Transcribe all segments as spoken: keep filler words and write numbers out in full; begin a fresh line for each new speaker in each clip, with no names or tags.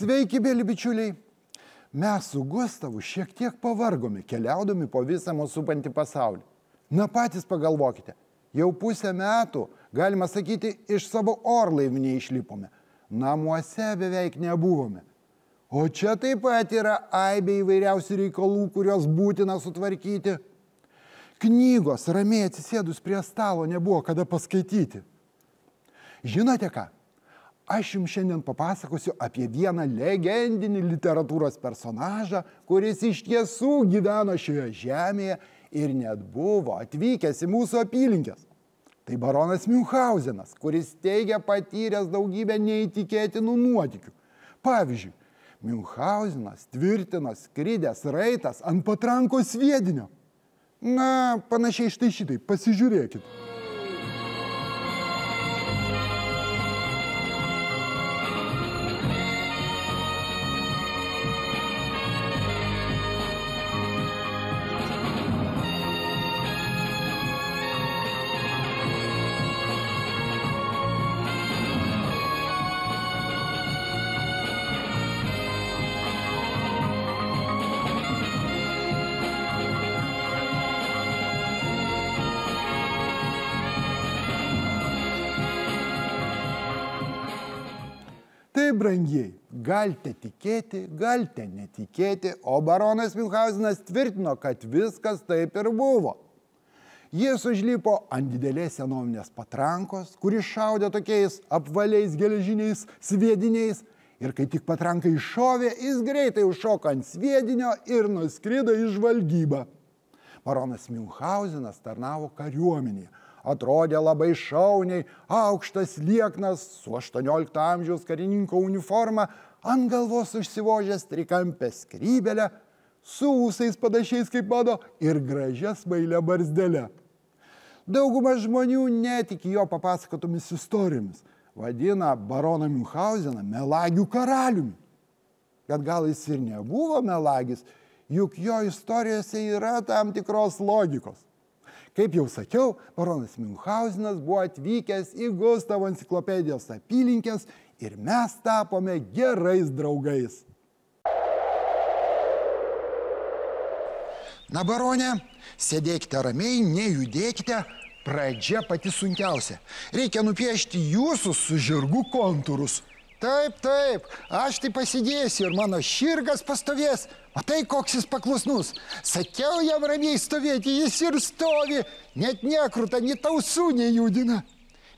Sveiki, mėly bičiuliai. Mes su Gustavu šiek tiek pavargome, keliaudami po visą mūsų supantį pasaulį. Na patys pagalvokite, jau pusę metų, galima sakyti, iš savo orlaivį neišlipome. Namuose beveik nebuvome. O čia taip pat yra aibė įvairiausių reikalų, kurios būtina sutvarkyti. Knygos ramiai atsisėdus prie stalo nebuvo kada paskaityti. Žinote ką? Aš jums šiandien papasakosiu apie vieną legendinį literatūros personažą, kuris iš tiesų gyveno šioje žemėje ir net buvo atvykęs į mūsų apylinkes. Tai baronas Miunchausenas, kuris teigia patyręs daugybę neįtikėtinų nuotykių. Pavyzdžiui, Miunchausenas tvirtino skridęs raitas ant patrankos sviedinio. Na, panašiai štai šitai, pasižiūrėkit. Tai, brangiai, galite tikėti, galite netikėti, o baronas Miunchausenas tvirtino, kad viskas taip ir buvo. Jis užlipo ant didelės senovinės patrankos, kuris šaudė tokiais apvaliais geležiniais sviediniais, ir kai tik patranka iššovė, jis greitai užšoko ant sviedinio ir nuskrido į žvalgybą. Baronas Miunchausenas tarnavo kariuomenėje. Atrodė labai šauniai, aukštas lieknas, su aštuoniolikto amžiaus karininko uniforma, ant galvos užsivožęs trikampę skrybelę, su ūsais panašiais kaip mano ir gražia smailia barzdelė. Dauguma žmonių netiki jo papasakotomis istorijomis, vadina baroną Miunchauseną melagių karaliumi. Bet gal jis ir nebuvo melagis, juk jo istorijose yra tam tikros logikos. Kaip jau sakiau, baronas Miunchausenas buvo atvykęs į Gustavo enciklopedijos apylinkes ir mes tapome gerais draugais. Na, barone, sėdėkite ramiai, nejudėkite, pradžia pati sunkiausia. Reikia nupiešti jūsų su žirgu kontūrus. Taip, taip, aš tai pasidėsiu ir mano širgas pastovės. Matai, koks jis paklusnus. Sakiau jam ramiai stovėti, jis ir stovi, net nekruta, net ausų nejudina.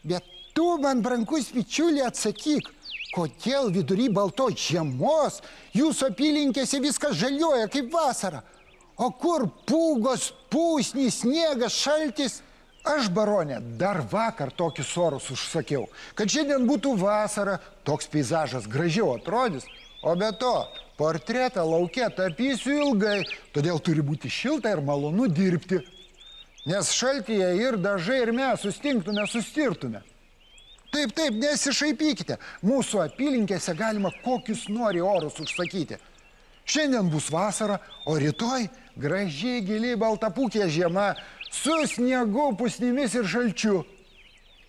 Bet tu, man brangus bičiuli, atsakyk, kodėl vidury baltos žiemos jūsų apylinkėse viskas žaliuoja kaip vasara. O kur pūgos, pusnys, sniegas, šaltis? Aš, barone, dar vakar tokius orus užsakiau, kad šiandien būtų vasara, toks peizažas gražiau atrodys, o be to, portretą lauke tapysiu ilgai, todėl turi būti šilta ir malonu dirbti. Nes šaltyje ir dažai ir mes sustingtume, sustirtume. Taip, taip, nesišaipykite, mūsų apylinkėse galima kokius nori orus užsakyti. Šiandien bus vasara, o rytoj gražiai giliai baltapūkė žiema, su sniegu, pusnimis ir šalčiu.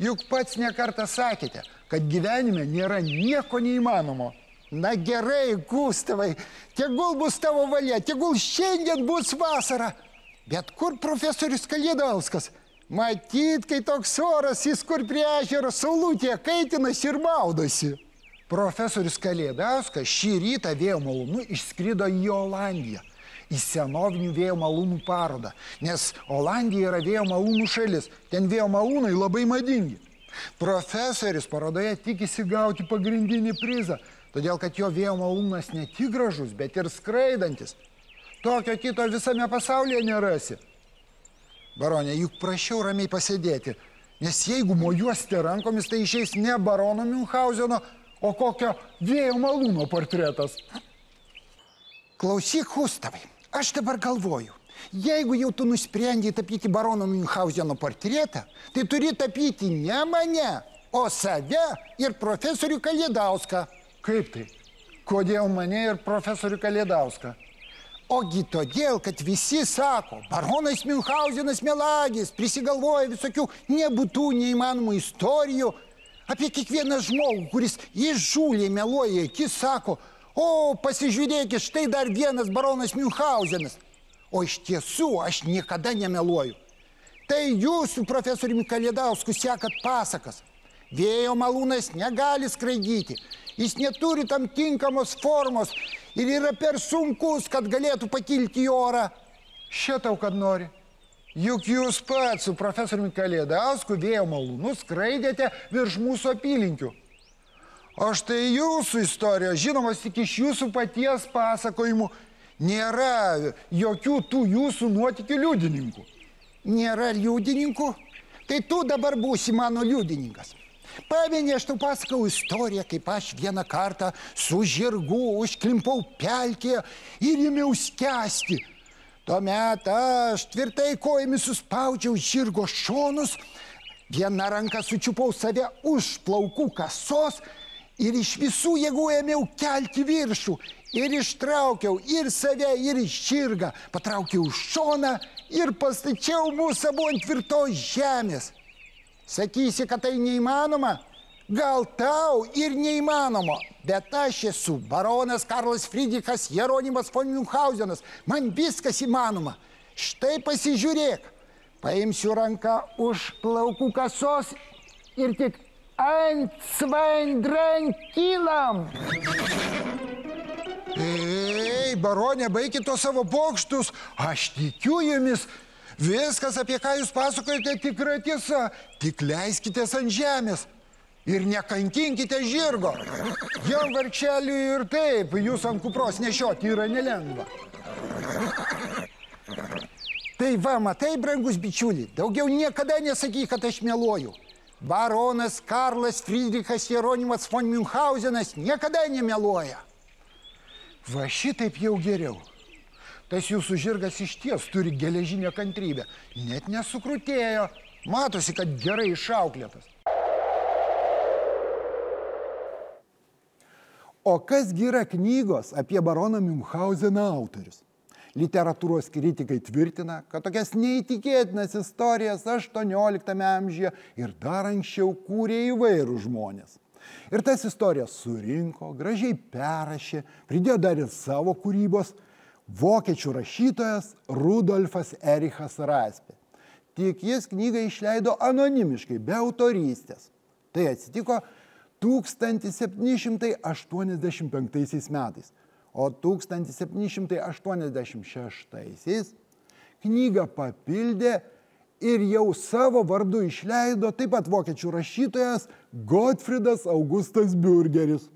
Juk pats nekartą sakėte, kad gyvenime nėra nieko neįmanomo. Na gerai, Gustavai, tegul bus tavo valia, tegul šiandien bus vasara. Bet kur profesorius Kalėdauskas? Matyt, kai toks oras, jis kur prie ežero saulutėje kaitinasi ir maudosi. Profesorius Kalėdauskas šį rytą vėjo malūnu išskrido į Olandiją, į senovinių vėjo malūnų parodą, nes Olandija yra vėjo malūnų šalis, ten vėjo malūnai labai madingi. Profesorius parodoje tikisi gauti pagrindinį prizą, todėl kad jo vėjo malūnas ne tik gražus, bet ir skraidantis. Tokio kito visame pasaulyje nerasi. Barone, juk prašiau ramiai pasėdėti, nes jeigu mojuosite rankomis, tai išeis ne barono Miunchauseno, o kokio vėjo malūno portretas. Klausyk, Gustavai, aš dabar galvoju, jeigu jau tu nusprendei tapyti barono Miunchauseno portretą, tai turi tapyti ne mane, o save ir profesorių Kalėdauską. Kaip tai? Kodėl mane ir profesorių Kalėdauską? Ogi todėl, kad visi sako, baronas Miunchausenas melagis, prisigalvoja visokių nebūtų, neįmanomų istorijų apie kiekvieną žmogų, kuris įžūliai meluoja, akis sako, O, pasižiūrėkit, štai dar vienas baronas Miunchausenas. O iš tiesų aš niekada nemeluoju. Tai jūs su profesoriumi Kalėdausku sekat pasakas. Vėjo malūnas negali skraidyti. Jis neturi tam tinkamos formos ir yra per sunkus, kad galėtų pakilti į orą. Šitau, kad nori. Juk jūs pats su profesoriumi Kalėdausku vėjo malūnu skraidėte virš mūsų apylinkių. O štai jūsų istorijos, žinomas tik iš jūsų paties pasakojimų, nėra jokių tų jūsų nuotykių liudininkų. Nėra liudininkų? Tai tu dabar būsi mano liudininkas. Pameni, aš tau pasakau istoriją, kaip aš vieną kartą su žirgu užklimpau pelkėje ir ėmiau skęsti. Tuomet aš tvirtai kojomis suspaudžiau žirgo šonus, viena ranka sučiupau save už plaukų kasos ir iš visų jėgų ėmiau kelti viršų ir ištraukiau ir save, ir žirgą. Patraukiau šoną ir pastačiau mūsų abu ant tvirtos žemės. Sakysi, kad tai neįmanoma? Gal tau ir neįmanoma, bet aš esu baronas Karlas Friedrichas Jeronimas von Miunchausenas. Man viskas įmanoma. Štai pasižiūrėk. Paimsiu ranką už plaukų kasos ir tik ant svaindrankylam. Ei, baronė, baikit tos savo pokštus. Aš tikiu jumis. Viskas, apie ką jūs pasakojate, tikra tiesa. Tik leiskitės ant žemės. Ir nekankinkite žirgo. Jam vargšeliui ir taip, jūs ant kupros nešioti yra nelengva. Tai va, matai, brangus bičiuli, daugiau niekada nesakyk, kad aš meluoju. Baronas Karlas Friedrichas Jeronimas von Miunchausenas niekada nemeluoja. Va šitaip jau geriau. Tas jūsų žirgas iš ties turi geležinę kantrybę. Net nesukrutėjo. Matosi, kad gerai išauklėtas. O kasgi yra knygos apie baroną Miunchauseną autorius? Literatūros kritikai tvirtina, kad tokias neįtikėtinas istorijas aštuonioliktame amžiuje ir dar anksčiau kūrė įvairūs žmonės. Ir tas istorijas surinko, gražiai perrašė, pridėjo dar ir savo kūrybos vokiečių rašytojas Rudolfas Erichas Raspė. Tik jis knygą išleido anonimiškai, be autorystės. Tai atsitiko tūkstantis septyni šimtai aštuoniasdešimt penktaisiais metais. O tūkstantis septyni šimtai aštuoniasdešimt šeštaisiais knygą papildė ir jau savo vardu išleido taip pat vokiečių rašytojas Gottfriedas Augustas Bürgeris.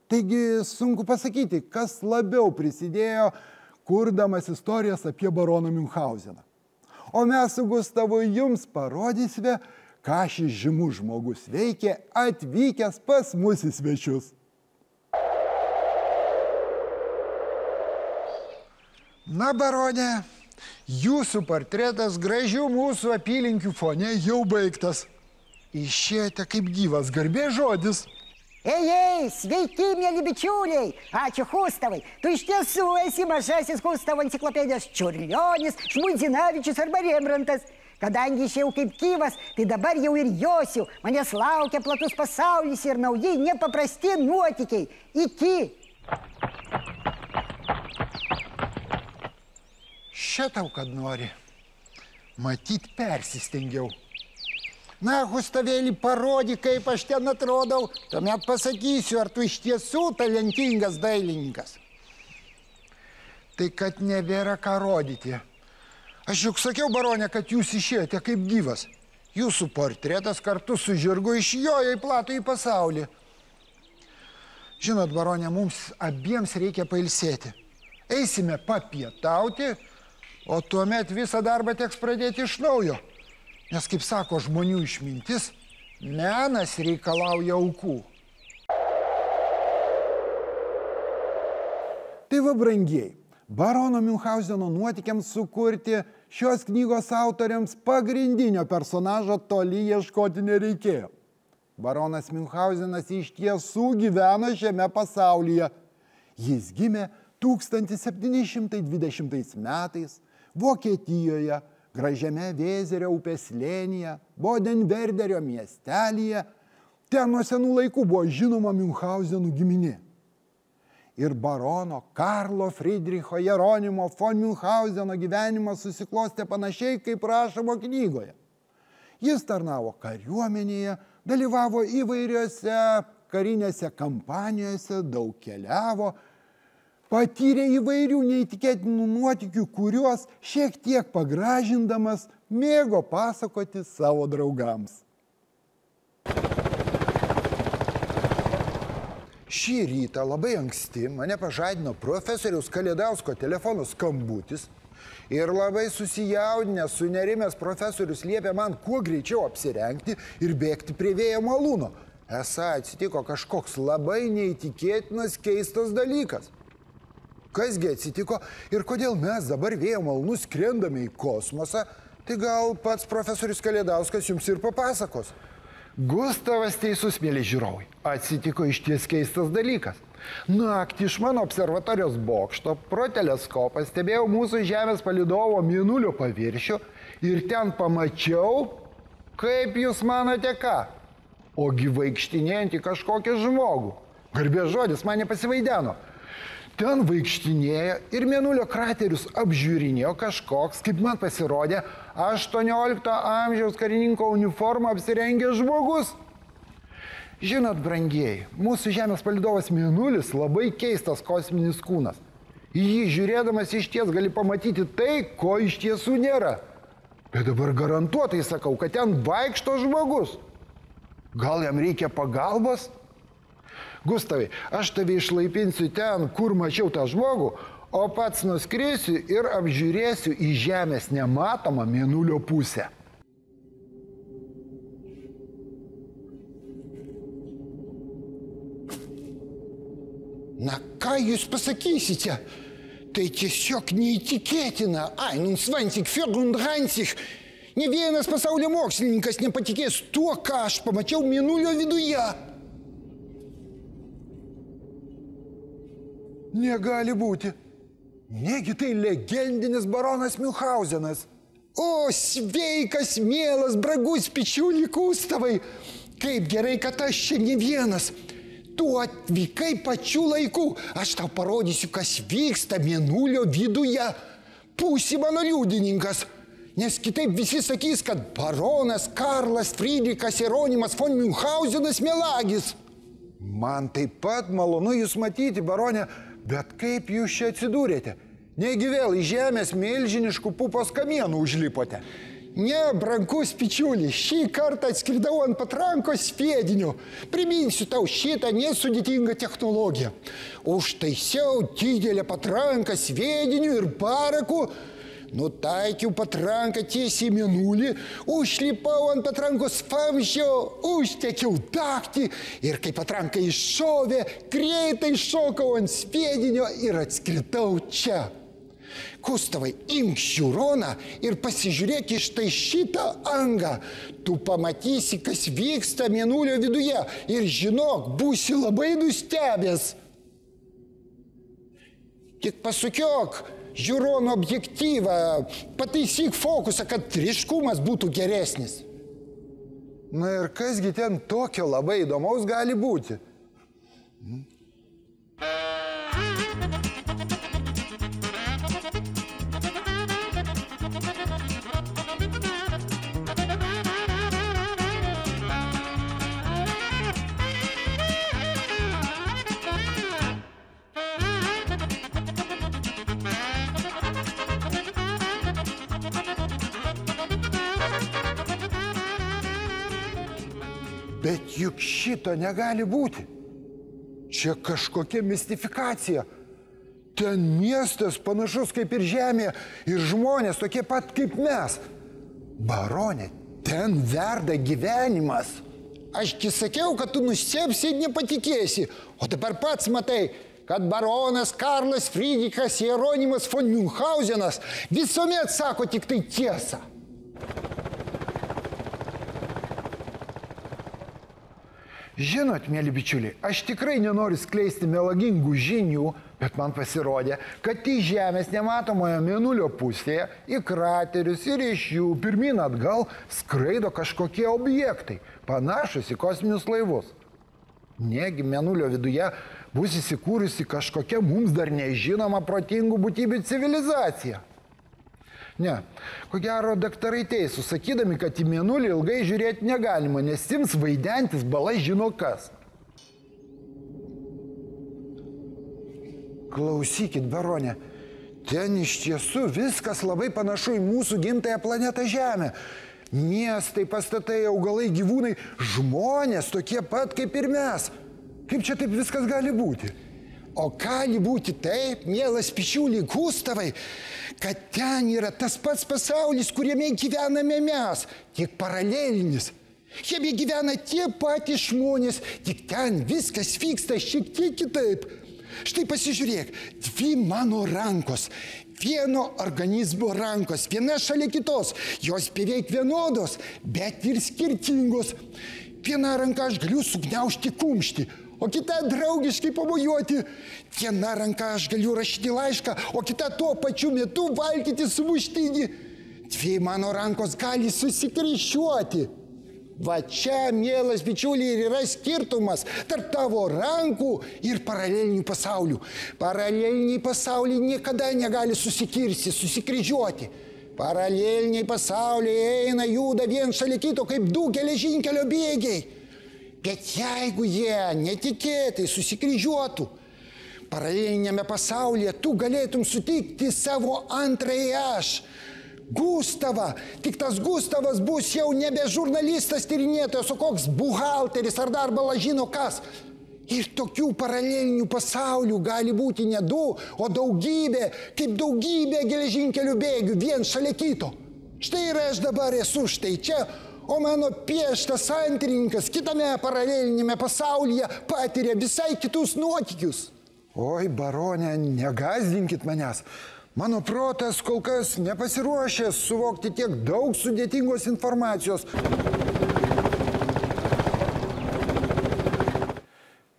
Taigi sunku pasakyti, kas labiau prisidėjo, kurdamas istorijas apie baroną Miunchauseną. O mes su Gustavu jums parodysime, ką šis žymus žmogus veikė atvykęs pas mus į svečius. Na, baronė, jūsų portretas gražių mūsų apylinkių fone jau baigtas. Išėjote kaip gyvas, garbė žodis.
Ei, ei, sveiki, mėly bičiuliai. Ačiū Gustavai. Tu iš tiesų esi mažasis Gustavo enciklopedijos Čiurlionis, Žmuidzinavičius arba Rembrantas. Kadangi išėjau kaip gyvas, tai dabar jau ir josiu. Manęs laukia platus pasaulis ir nauji nepaprasti nuotykiai. Iki.
Šitau, kad nori. Matyt, persistengiau. Na, Gustavėlį, parodyk, kaip aš ten atrodau. Tuomet pasakysiu, ar tu iš tiesų talentingas dailininkas. Tai kad nebėra ką rodyti. Aš juk sakiau, baronė, kad jūs išėjote kaip gyvas. Jūsų portretas kartu su žirgu išjojo į platųjį pasaulį. Žinot, baronė, mums abiems reikia pailsėti. Eisime papietauti, o tuomet visą darbą teks pradėti iš naujo. Nes, kaip sako žmonių išmintis, menas reikalauja aukų. Tai va, brangieji, barono Miunchauseno nuotykiams sukurti šios knygos autoriams pagrindinio personažo toli ieškoti nereikėjo. Baronas Miunchausenas iš tiesų gyveno šiame pasaulyje. Jis gimė tūkstantis septyni šimtai dvidešimtais metais Vokietijoje, gražiame Vėzerio upės slėnyje, Bodenverderio miestelyje. Ten nuo senų laikų buvo žinoma Miunchausenų giminė. ir barono Karlo Friedricho Jeronimo von Münchauseno gyvenimas susiklostė panašiai, kaip rašoma knygoje. Jis tarnavo kariuomenėje, dalyvavo įvairiose karinėse kampanijose, daug keliavo, patyrė įvairių neįtikėtinų nuotykių, kuriuos šiek tiek pagražindamas mėgo pasakoti savo draugams. Šį rytą labai anksti mane pažadino profesoriaus Kalėdausko telefono skambutis ir labai susijaudinęs, sunerimęs profesorius liepė man kuo greičiau apsirengti ir bėgti prie vėjo malūno. Esą atsitiko kažkoks labai neįtikėtinas keistas dalykas. Kasgi atsitiko ir kodėl mes dabar vėjo malūnu skrendame į kosmosą, tai gal pats profesorius Kalėdauskas jums ir papasakos. Gustavas teisus, mėly žiūrovai, atsitiko išties keistas dalykas. Naktį iš mano observatorijos bokšto pro teleskopą stebėjau mūsų Žemės palydovo mėnulio paviršių ir ten pamačiau, kaip jūs manote ką, ogi vaikštinėjantį kažkokį žmogų. Garbės žodis man nepasivaideno. Ten vaikštinėjo ir mėnulio kraterius apžiūrinėjo kažkoks, kaip man pasirodė, aštuoniolikto amžiaus karininko uniformą apsirengęs žmogus. Žinot, brangieji, mūsų Žemės palydovas mėnulis labai keistas kosminis kūnas. Į jį žiūrėdamas iš ties gali pamatyti tai, ko iš tiesų nėra. Bet dabar garantuotai sakau, kad ten vaikšto žmogus. Gal jam reikia pagalbos? Gustavai, aš tave išlaipinsiu ten, kur mačiau tą žmogų, o pats nuskrisiu ir apžiūrėsiu į Žemės nematomą mėnulio pusę.
Na, ką jūs pasakysite? Tai tiesiog neįtikėtina. einundzwanzig, vierunddreißig. Ne vienas pasaulio mokslininkas nepatikės tuo, ką aš pamačiau mėnulio viduje.
Negali būti. Negi tai legendinis baronas Münchausenas.
O, sveikas, mielas, bragus bičiuli Gustavai. Kaip gerai, kad aš čia ne vienas. Tu atvykai pačiu laiku. Aš tau parodysiu, kas vyksta mėnulio viduje. Būsi mano liudininkas. Nes kitaip visi sakys, kad baronas Karlas Friedrichas Jeronimas von Münchausenas melagis.
Man taip pat malonu jūs matyti, baronė, bet kaip jūs čia atsidūrėte? Negi vėl į Žemės milžiniškų pupos kamienų užlipote?
Ne, brangus bičiuli, šį kartą atskridau ant patrankos sviedinio. Priminsiu tau šitą nesudėtingą technologiją. Užtaisiau didelę patranką sviediniu ir baraku, nutaikiau patranką tiesiai į mėnulį, užlipau ant patrankos vamzdžio, užtekiau dagtį ir kai patranka iššovė, greitai šokau ant sviedinio ir atskridau čia. Gustavai, imk žiūroną ir pasižiūrėk iš tai šitą angą. Tu pamatysi, kas vyksta mėnulio viduje ir žinok, būsi labai nustebęs. Tik pasukiok žiūrono objektyvą, pataisyk fokusą, kad ryškumas būtų geresnis.
Na ir kasgi ten tokio labai įdomaus gali būti? Hmm? Bet juk šito negali būti. Čia kažkokia mistifikacija. Ten miestas panašus kaip ir Žemė ir žmonės tokie pat kaip mes. Baronė, ten verda gyvenimas.
Ašgi sakiau, kad tu nustebsi ir nepatikėsi. O dabar pats matai, kad baronas Karlas Friedrichas Jeronimas von Münchausenas visuomet sako tik tai tiesą.
Žinot, mėly bičiuliai, aš tikrai nenoriu skleisti melagingų žinių, bet man pasirodė, kad į Žemės nematomoje mėnulio pusėje, į kraterius ir iš jų pirmyn atgal skraido kažkokie objektai, panašus į kosminius laivus. Negi Mėnulio viduje bus įsikūrusi kažkokia mums dar nežinoma protingų būtybių civilizacija. Ne, ko gero daktarai teisūs, sakydami, kad į Mėnulį ilgai žiūrėti negalima, nes ims vaidentis bala žino kas. Klausykit, barone, ten iš tiesų viskas labai panašu į mūsų gimtąją planetą Žemę. Miestai, pastatai, augalai, gyvūnai, žmonės tokie pat kaip ir mes. Kaip čia taip viskas gali būti?
O gali būti taip, mielas pičiuli Gustavai, kad ten yra tas pats pasaulis, kuriame gyvename mes, tik paralelinis. Jame gyvena tie patys žmonės, tik ten viskas vyksta šiek tiek kitaip. Štai pasižiūrėk, dvi mano rankos, vieno organizmo rankos, viena šalia kitos, jos beveik vienodos, bet ir skirtingos. Viena ranka aš galiu sugniaužti kumštį, o kita draugiškai pamojuoti. Viena ranka aš galiu rašyti laišką, o kita tuo pačiu metu valgyti sumuštinį. Dvi mano rankos gali susikryžiuoti. Va čia, mielas bičiuliai, ir yra skirtumas tarp tavo rankų ir paralelinių pasaulių. Paraleliniai pasauliai niekada negali susikirsti, susikryžiuoti. Paraleliniai pasauliai eina, juda vien šalia kito kaip du geležinkelio bėgiai. Bet jeigu jie netikėtai susikryžiuotų, paralelinėme pasaulyje tu galėtum sutikti savo antrąjį aš, Gustavą. Tik tas Gustavas bus jau nebe žurnalistas tyrinėtojas, o koks buhalteris ar dar bala žino kas. Ir tokių paralelinių pasaulių gali būti ne du, o daugybė, kaip daugybė geležinkelių bėgių, vien šalia kito. Štai ir aš dabar esu štai čia, o mano pieštas antrininkas kitame paralelinėme pasaulyje patiria visai kitus nuotykius.
Oi, barone, negazdinkit manęs. Mano protas kol kas nepasiruošęs suvokti tiek daug sudėtingos informacijos.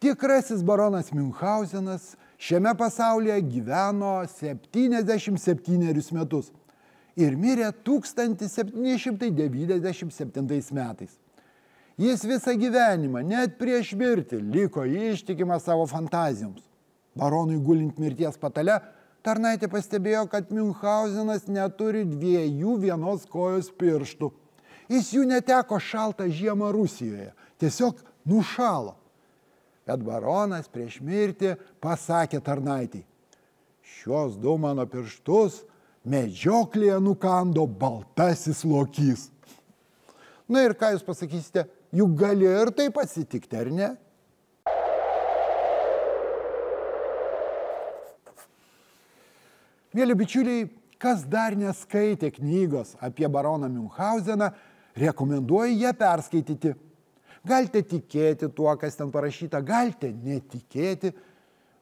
Tikrasis baronas Miunchausenas šiame pasaulyje gyveno septyniasdešimt septynerius metus ir mirė tūkstantis septyni šimtai devyniasdešimt septintais metais. Jis visą gyvenimą, net prieš mirtį, liko ištikimas savo fantazijoms. Baronui gulint mirties patale, tarnaitė pastebėjo, kad Miunchausenas neturi dviejų vienos kojos pirštų. Jis jų neteko šaltą žiemą Rusijoje, tiesiog nušalo. Bet baronas prieš mirtį pasakė tarnaitei: šios du mano pirštus medžioklėje nukando baltasis lokys. Na ir ką jūs pasakysite, juk gali ir taip atsitikti, ar ne? Mėly bičiuliai, kas dar neskaitė knygos apie baroną Miunchauseną, rekomenduoju ją perskaityti. Galite tikėti tuo, kas ten parašyta, galite netikėti,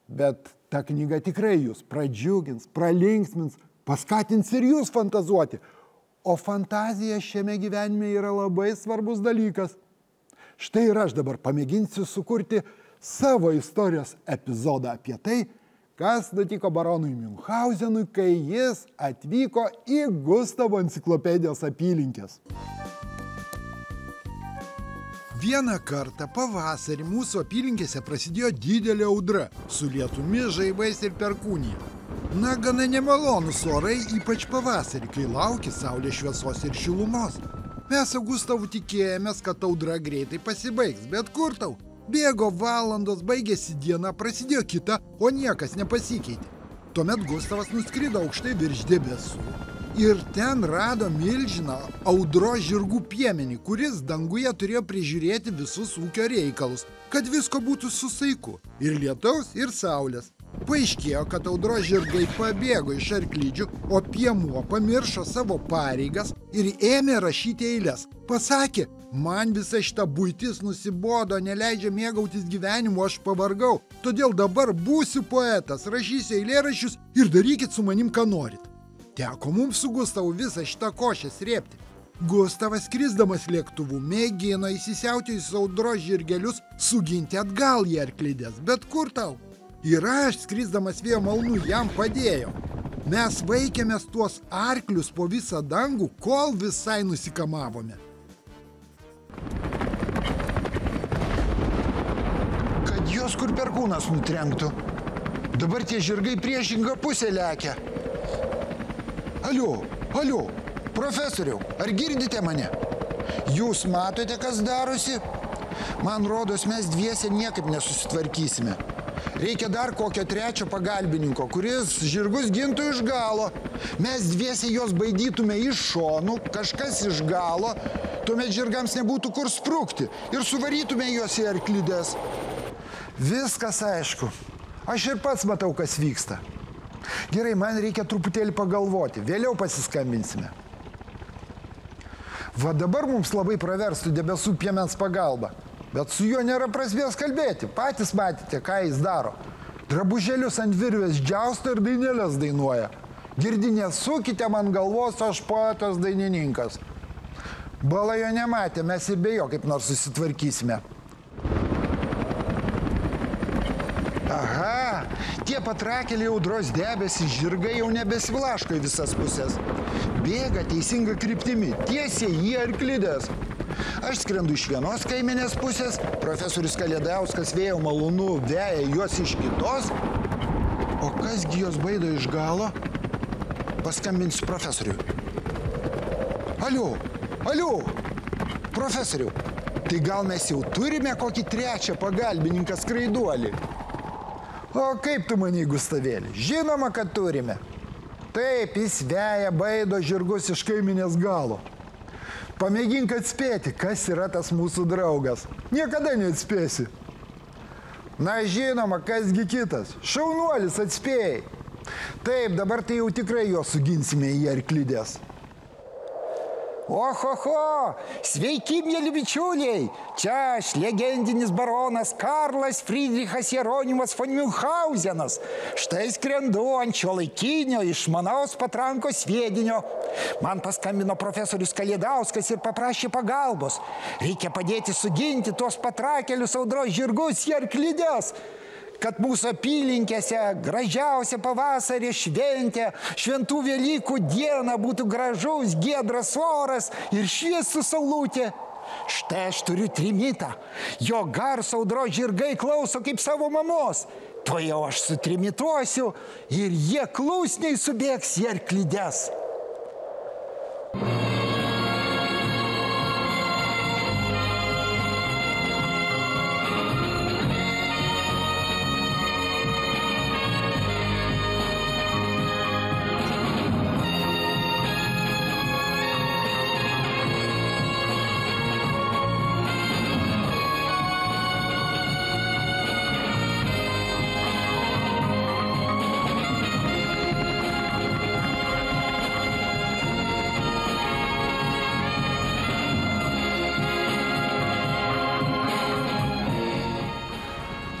bet ta knyga tikrai jūs pradžiugins, pralinksmins, paskatins ir jūs fantazuoti. O fantazija šiame gyvenime yra labai svarbus dalykas. Štai ir aš dabar pamėginsiu sukurti savo istorijos epizodą apie tai, kas nutiko baronui Miunchausenui, kai jis atvyko į Gustavo enciklopedijos apylinkes. Vieną kartą pavasarį mūsų apylinkėse prasidėjo didelė audra su lietumi, žaibais ir perkūnija. Na, gana nemalonus orai, ypač pavasarį, kai lauki saulės šviesos ir šilumos. Mes su Gustavu tikėjomės, kad audra greitai pasibaigs, bet kur tau? Bėgo valandos, baigėsi diena, prasidėjo kita, o niekas nepasikeitė. Tuomet Gustavas nuskrido aukštai virš debesų ir ten rado milžiną audros žirgų piemenį, kuris danguje turėjo prižiūrėti visus ūkio reikalus, kad visko būtų su saiku – ir lietaus, ir saulės. Paaiškėjo, kad audros žirgai pabėgo iš arklydžių, o piemuo pamiršo savo pareigas ir ėmė rašyti eiles. Pasakė: man visa šita buitis nusibodo, neleidžia mėgautis gyvenimu, aš pavargau. Todėl dabar būsiu poetas, rašysiu eilėraščius ir darykit su manim, ką norit. Teko mums su Gustavu visą šitą košę srėbti. Gustavas, skrisdamas lėktuvu, mėgino įsisiautėjusius audros žirgelius suginti atgal į arklidės, bet kur tau? Ir aš, skrisdamas vėjo malūnu, jam padėjau. Mes vaikėmės tuos arklius po visą dangų, kol visai nusikamavome. kur perkūnas nutrenktų. Dabar tie žirgai priešingą pusę lekia. Alio, alio, profesoriau, ar girdite mane? Jūs matote, kas darosi? Man rodos, mes dviese niekaip nesusitvarkysime. Reikia dar kokio trečio pagalbininko, kuris žirgus gintų iš galo. Mes dviese juos baidytume iš šonų, kažkas iš galo, tuomet žirgams nebūtų kur sprukti ir suvarytume juos į arklides. Viskas aišku. Aš ir pats matau, kas vyksta. Gerai, man reikia truputėlį pagalvoti. Vėliau pasiskambinsime. Va dabar mums labai praverstų debesų piemens pagalba. Bet su juo nėra prasmės kalbėti. Patys matėte, ką jis daro. Drabužėlius ant virvės džiausto ir dainėlės dainuoja. Girdi, nesukite man galvos, aš poetas dainininkas. Bala jo nematė, mes ir be jo kaip nors susitvarkysime. Aha, tie patrakėliai audros debesys žirgai jau nebesivlaško į visas pusės. Bėga teisinga kryptimi, tiesiai į arklides. Aš skrendu iš vienos kaiminės pusės, profesorius Kalėdauskas vėjo malūnu veja juos iš kitos. O kasgi jos baido iš galo? Paskambinsiu profesoriui. Alio, alio, profesoriau, tai gal mes jau turime kokį trečią pagalbininką skraiduolį? O kaip tu manai, Gustavėli? Žinoma, kad turime. Taip, jis veja baido žirgus iš kaiminės galo. Pamėgink atspėti, kas yra tas mūsų draugas. Niekada neatspėsi. Na, žinoma, kasgi kitas. Šaunuolis, atspėjai. Taip, dabar tai jau tikrai jo suginsime į arklides. Ohoho, sveiki, mėly bičiuliai. Čia aš, legendinis baronas Karlas Friedrichas Jeronimas von Miunchausenas. Štai skrendu ant šiuolaikinio išmanaus patrankos sviedinio. Man paskambino profesorius Kalėdauskas ir paprašė pagalbos. Reikia padėti suginti tuos patrakelius audros žirgus į arklides, kad mūsų apylinkėse gražiausia pavasarį šventė, šventų Velykų dieną būtų gražus, giedras oras ir šviesų saulutė. Štai aš turiu trimitą. Jo garso audros žirgai klauso kaip savo mamos. Tuojau aš sutrimituosiu ir jie klusniai subėgs į arklides.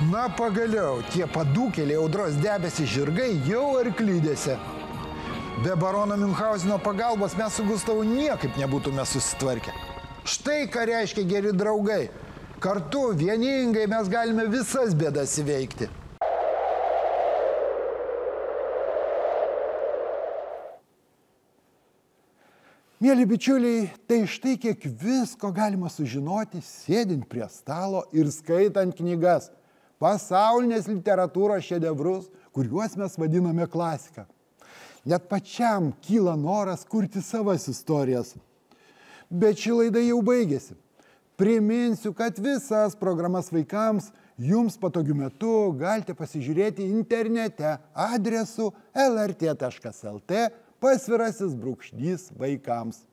Na, pagaliau, tie padūkėliai audros debesys žirgai jau arklidėse. Be barono Miunchauseno pagalbos mes su Gustavu niekaip nebūtume susitvarkę. Štai ką reiškia geri draugai. Kartu, vieningai mes galime visas bėdas įveikti. Mėly bičiuliai, tai štai kiek visko galima sužinoti, sėdint prie stalo ir skaitant knygas. Pasaulinės literatūros šedevrus, kuriuos mes vadiname klasika. Net pačiam kyla noras kurti savas istorijas. Bet ši laida jau baigėsi. Priminsiu, kad visas programas vaikams jums patogiu metu galite pasižiūrėti internete adresu el er tė taškas el tė pasvirasis brūkšnys vaikams.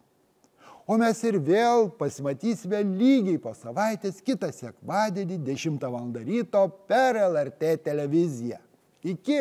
O mes ir vėl pasimatysime lygiai po savaitės kitą sekmadienį dešimtą valandą ryto per el er tė televiziją. Iki!